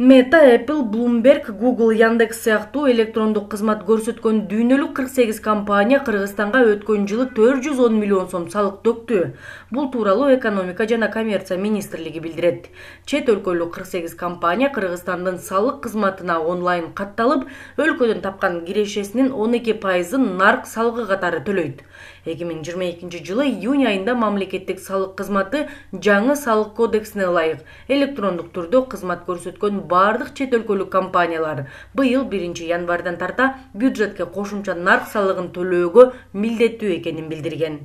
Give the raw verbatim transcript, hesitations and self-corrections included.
Meta, Apple, Bloomberg, Google, Яндекс сыяктуу электрондук кызмат көрсөткөн дүйнөлүк кырк сегиз компания Кыргызстанга өткөн жылы төрт жүз он миллион сом салык төктү. Бул тууралуу экономика жана коммерция министрлиги билдирет. Чет өлкөлүк кырк сегиз компания Кыргызстандын салык кызматына онлайн катталып, өлкөдөн тапкан кирешесинин он эки пайызын нарк салыгы катары төлөйт. эки миң жыйырма экинчи жылы июнь айында мамлекеттик салык кызматы жаңы салык кодексине ылайык электрондук түрдө кызмат көрсөткөн бардык чет өлкөлүк компаниялар быйыл биринчи январдан тарта бюджетке кошумча нарк салыгын төлөөгө милдеттүү экенин билдирген.